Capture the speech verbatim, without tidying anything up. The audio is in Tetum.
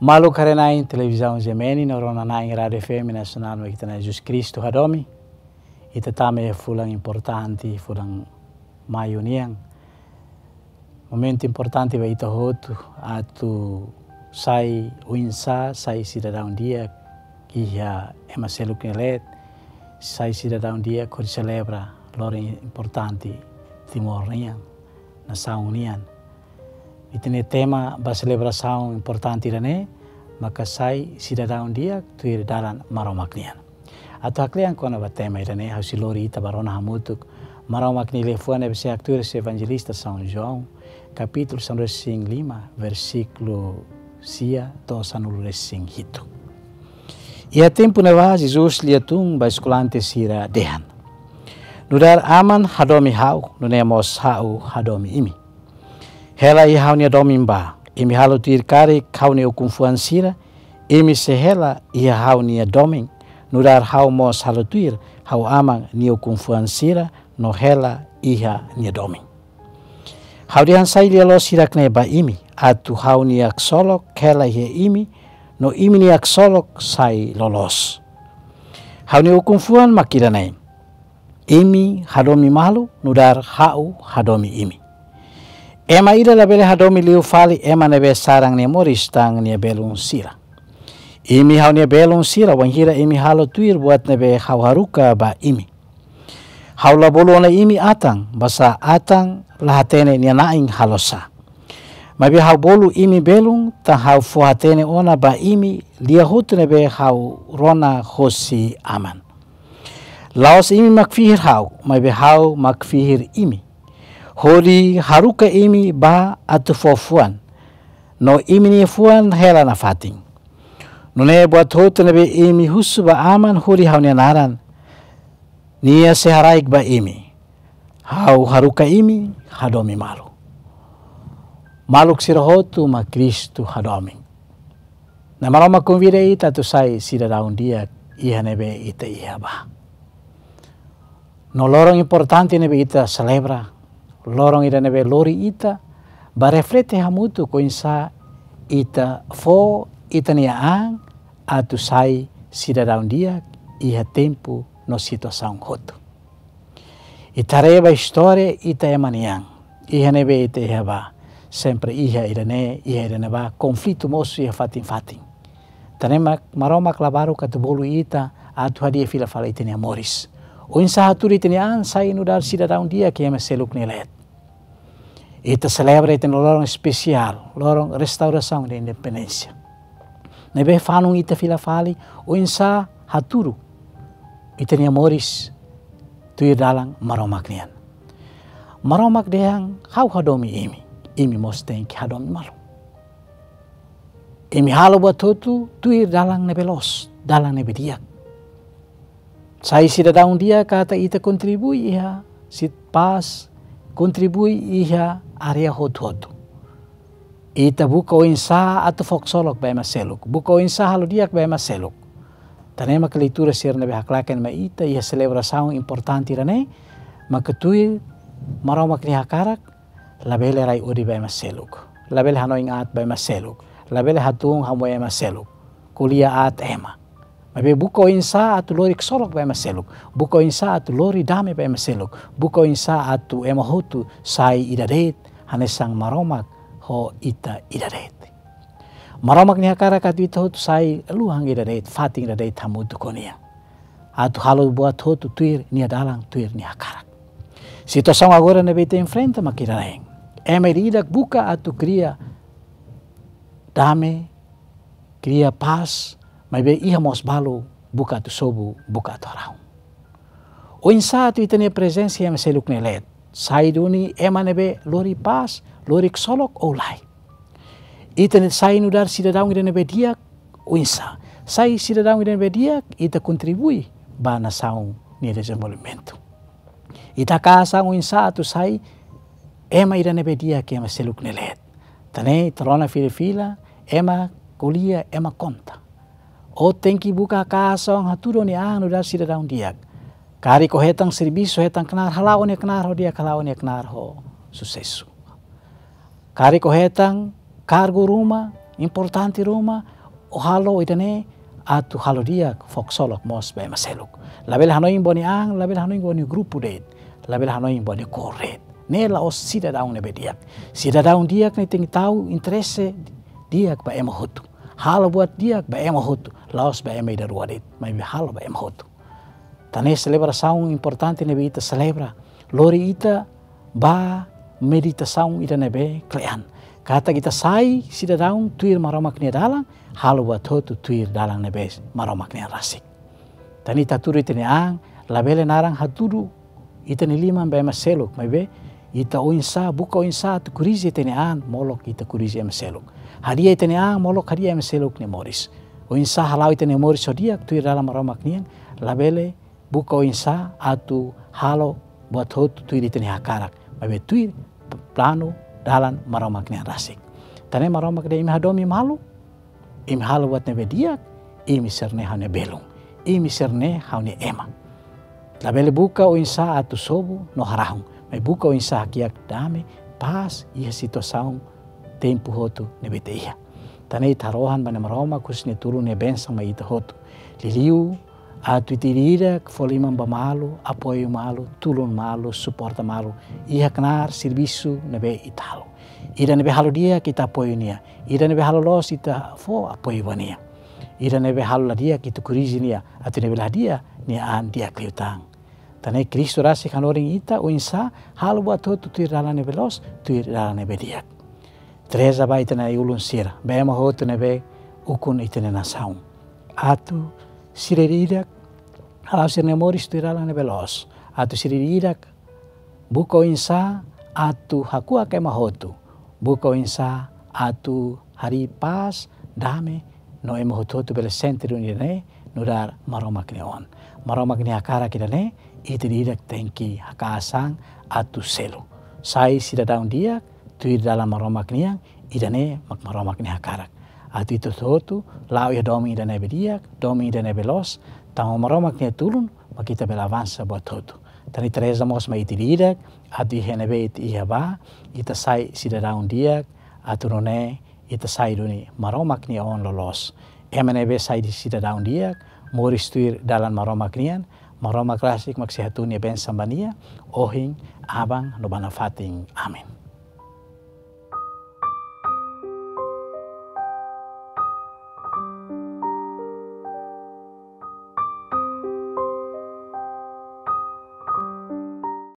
Maluk haree-na'in televizaun G M N no rona-na'in Rádiu F M Nasionál Mak Ita Na'i Jesus Kristu Hadomi. Ita tama iha fulan importante, fulan Maiu nian. Momentu importante ba ita hotu atu sai oinsá sai sidadaun di'ak iha ema seluk nia leet, sai sidadaun di'ak hodi selebra loron importante Timor nian, nasaun nian. Ita-nia tema ba selebrasaun importante ida-ne'e maka sai sidadaun di'ak tuir dalan Maromak nian. Atu haklean kona-ba tema ida-ne'e, ha'u sei lori ita ba rona hamutuk Maromak nia liafuan ne'ebé sei haktuir husi Evanjelista São João, kapítulu sanulu-resin-lima, versíkulu sia to'o sanulu-resin-hitu. Iha tempu ne'ebá, Jesus lia-tun ba eskolante sira dehan: Nu'udar Aman hadomi ha'u, nune'e mós ha'u hadomi imi. Hela iha ha'u-nia domin bá. Imi halo tuir karik ha'u-nia ukun-fuan sira, imi sei hela iha ha'u-nia domin, nu'udar ha'u mós halo tuir ha'u Aman nia ukun-fuan sira no hela iha nia domin. Ha'u dehan sai lia-loos hirak-ne'e ba imi, atu ha'u-nia ksolok hela iha imi, no imi-nia ksolok sai loloos. Ha'u-nia ukun-fuan mak ida-ne'e: imi hadomi malu, nu'udar ha'u hadomi imi. Ema ida labele hadomi liu fali ema ne'ebé saran nia moris tan nia belun sira. Imi ha'u-nia belun sira, wainhira imi halo tuir buat ne'ebé ha'u haruka ba imi. Ha'u la bolu ona imi atan, basá atan la hatene nia na'in halo sá. Maibé ha'u bolu imi belun, tan ha'u fó-hatene ona ba imi lia hotu ne'ebé ha'u rona hosi Aman. La'ós imi mak fihir ha'u, maibé ha'u mak fihir imi, hodi haruka imi bá atu fó fuan, no imi-nia fuan hela nafatin. Nune'e buat hotu ne'ebé imi husu ba Aman hodi ha'u-nia naran, nia sei haraik ba imi. Ha'u haruka imi hadomi malu. Maluk sira hotu mak Kristu hadomi. Na'i Maromak konvida ita atu sai sidadaun di'ak iha ne'ebé ita iha bá. No loron importante ne'ebé ita selebra, loron ida ne'ebé lori ita ba reflete hamutuk oinsá ita fó ita-nia an atu sai sidadaun di'ak iha tempu no situasaun hotu. Ita haree ba istória ita ema nian, iha ne'ebé ita iha bá, sempre iha ida-ne'e, iha ida-ne'ebá, konflitu mosu iha fatin-fatin. Tan ne'e mak Maromak la baruk atu bolu ita atu hadi'a fila fali ita-nia moris. Oinsá hatudu ita-nia an sai nu'udar sidadaun di'ak iha ema seluk nia leet. Ita selebra ita-nia loron espesiál, loron restaurasaun de independénsia. Ne'ebé fanun ita fila fali, oinsá hatudu ita-nia moris tuir dalan Maromak nian. Maromak dehan ha'u hadomi imi, imi mós tenke hadomi malu. Imi halo buat hotu tuir dalan ne'ebé loos, dalan ne'ebé di'ak. Sai sidadaun di'ak katak ita kontribui iha sit pás, kontribui iha área hotu-hotu. Ita buka oinsá atu fó ksolok ba ema seluk, buka oinsá halo di'ak ba ema seluk. Tan ne'e mak leitura sira ne'ebé haklaken mai ita iha selebrasaun importante ida-ne'e, maka tuir Maromak nia hakarak, labele rai odi ba ema seluk, labele hanoin aat ba ema seluk, labele hatún hamoe ema seluk, ko'alia aat ema. Maibé buka oinsá atu lori ksolok ba ema seluk, buka oinsá atu lori dame ba ema seluk, buka oinsá atu ema hotu sai ida de'it, hanesan Maromak ho ita ida de'it. Maromak nia hakarak atu ita hotu sai luhan ida de'it, fatin ida de'it hamutuk ho nia. Atu halo buat hotu tuir nia dalan, tuir nia hakarak. Situasaun agora ne'ebé ita enfrenta mak ida-ne'e. Ema ida-idak buka atu kria dame, kria pás, maibé iha mós balu buka atu sobu, buka atu haraun. Oinsá atu ita-nia prezensa iha ema seluk nia leet? Sai duni ema ne'ebé lori pás, lori ksolok ou lae? Ita-nia sai nu'udar sidadaun ida ne'ebé di'ak oinsá? Sai sidadaun ida ne'ebé di'ak, ita kontribui ba nasaun nia dezenvolvimentu. Ita hakaas an oinsá atu sai ema ida ne'ebé di'ak iha ema seluk nia leet? Tan ne'e ita rona fila-fila, ema ko'alia, ema konta. Ó tenke buka hakaas an hatudu ó-nia an nu'udar sidadaun di'ak. Karik ó hetan servisu, hetan knaar, hala'o ó-nia knaar ho di'ak, hala'o ó-nia knaar ho susesu. Karik ó hetan kargu ruma, Importante ruma, ó halo ida-ne'e atu halo di'ak fó ksolok mós ba ema seluk. Labele hanoin ba ó-nia an, labele hanoin ba ó-nia grupu de'it, labele hanoin ba ó-nia kór de'it. Ne'e la'ós sidadaun ne'ebé di'ak. Sidadaun di'ak ne'e tenke tau interese di'ak ba ema hotu. Halo buat di'ak ba ema hotu. La'ós ba ema ida rua de'it, maibé halo ba ema hotu. Tan ne'e selebrasaun importante ne'ebé ita selebra lori ita ba meditasaun ida ne'ebé kle'an. Katak ita sai sidadaun tuir Maromak nia dalan, halo buat hotu tuir dalan ne'ebé Maromak nian rasik. Tan ne'e ita hatudu ita-nia an, labele naran hatudu ita-nia liman ba ema seluk, maibé ita oinsá, buka oinsá atu korrije ita-nia an, molok ita korrije ema seluk. Hadi'a ita-nia an, molok hadi'a ema seluk nia moris. Oinsá hala'o ita-nia moris ho di'ak tuir dalan Maromak nian, labele buka oinsá atu halo buat hotu tuir ita-nia hakarak, maibé tuir planu dalan Maromak nian rasik. Tan ne'e Maromak dehan imi hadomi malu, imi halo buat ne'ebé di'ak, imi sira-ne'e ha'u-nia belun, imi sira-ne'e ha'u-nia ema. Labele buka oinsá atu sobu no harahun, maibé buka oinsá hakiak dame, pás, iha situasaun tempu hotu ne'ebé ita iha. Tan ne'e ita harohan ba Na'i Maromak husu nia tulun, nia bensaun mai ita hotu. Liuliu atu ita ida-idak fó liman ba malu, apoiu malu, tulun malu, suporta malu iha knaar servisu ne'ebé ita halo. Ida ne'ebé halo di'ak ita apoiu nia, ida ne'ebé halo loos ita fó apoiu ba nia, ida ne'ebé halo la di'ak ita korrije nia, atu nia bele hadi'a nia an di'ak liután. Tan ne'e Kristu rasik hanorin ita oinsá halo buat hotu tuir dalan ne'ebé loos, tuir dalan ne'ebé di'ak. Ita reza ba ita-nia ulun sira, ba ema hotu ne'ebé ukun ita-nia nasaun, atu sira ida-idak hala'o sira-nia moris tuir dalan ne'ebé loos, atu sira ida-idak buka oinsá atu hakuak ema hotu, buka oinsá atu harii pás, dame, no ema hotu-hotu bele sente duni ida-ne'e nu'udar Maromak nia oan. Maromak nia hakarak ida-ne'e ita ida-idak tenke haka'as an atu selu. Sai sidadaun di'ak tuir dalan Maromak nian, ida-ne'e mak Maromak nia hakarak. Atu ita hotu-hotu la'o iha domin ida ne'ebé di'ak, domin ida ne'ebé loos, tanba Maromak nia tulun mak ita bele avansa buat hotu. Tan ne'e ita reza mós mai ita ida-idak, atu iha ne'ebé ita iha ba, ita sai sidadaun di'ak, atu nune'e ita sai duni Maromak nia oan loloos. Ema ne'ebé sai sidadaun di'ak, moris tuir dalan Maromak nian, Maromak rasik mak sei hatudu nia bensaun ba nia, ohin, aban no ba nafatin. Amen.